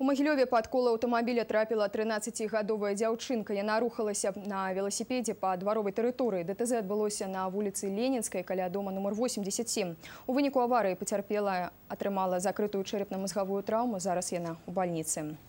У Магілёве пад кола аўтамабіля трапіла 13-гадовая дзяўчынка. Яна рухалася на велосипеде па дваровай тэрыторыі. ДТЗ адбылося на вуліцы Ленінскай каля дома нумар 87. У выніку аварыі пацярпелая атрымала закрытую чэрапна-мазгавую траўму. Зараз яна ў бальніцы.